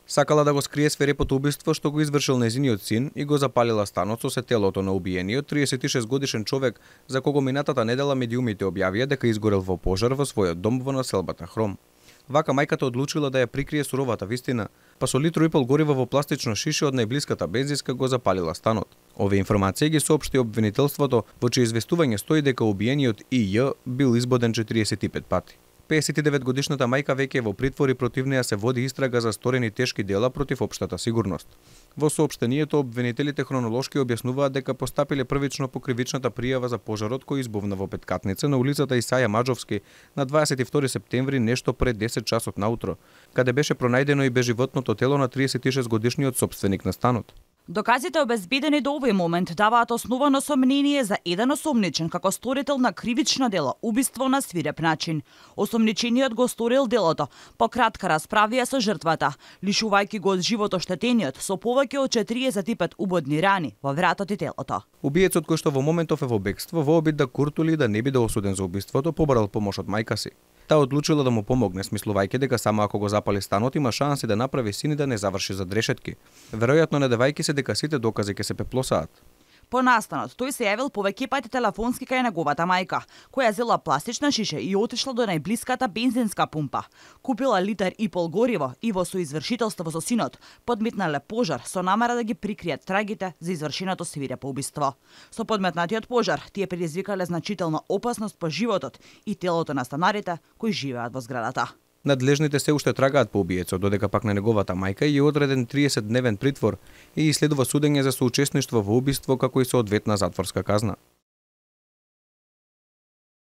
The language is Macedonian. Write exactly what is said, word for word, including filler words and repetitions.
Сакала да го скрие свирепото убиство што го извршил нејзиниот син и го запалила станот со телото на убиениот триесет и шест годишен човек, за кого минатата недела медиумите објавија дека изгорел во пожар во својот дом во населбата Хром. Вака мајката одлучила да ја прикрие суровата вистина, па со литро и пол гориво во пластично шише од најблиската бензинска го запалила станот. Овие информации ги соопшти обвинителството, во чие известување стои дека убиениот И Ј бил избоден четириесет и пет пати. пеесет и девет годишната мајка веќе е во притвор и против неја се води истрага за сторени тешки дела против општата сигурност. Во соопштението обвинителите хронолошки објаснуваат дека постапиле првично по кривичната пријава за пожарот кој избувна во Петкатница на улицата Исаја Маџовски на дваесет и втори септември нешто пред десет часот наутро, каде беше пронајдено и безживотното тело на триесет и шест годишниот сопственик на станот. Доказите обезбедени до овој момент даваат основано сомнение за еден осомничен како сторител на кривично дело убиство на свиреп начин. Осомничениот го сторил делото по кратка расправија со жртвата, лишувајќи го од живот оштетениот со повеќе од четириесет и пет убодни рани во вратот и телото. Убиецот кој што во моментов е во бегство во обид да куртули и да не биде осуден за убиството, побарал помош од мајка си. Таа одлучила да му помогне, смислувајќи дека само ако го запали станот има шанси да направи син и да не заврши за дрешетки, веројатно не давајќи се дека сите докази ќе се пеплосаат. По настанот, тој се јавил повеќе пати телефонски кај неговата мајка, која зела пластична шише и отишла до најблиската бензинска пумпа. Купила литар и пол гориво и во соизвршителство со синот подметнале пожар со намера да ги прикријат трагите за извршеното свирепо убиство. Со подметнатиот пожар тие предизвикале значителна опасност по животот и телото на станарите кои живеат во зградата. Надлежните се уште трагаат по убиецот, додека пак на неговата мајка и одреден триесет дневен притвор и следува судење за соучесништво во убиство како и соодветна затворска казна.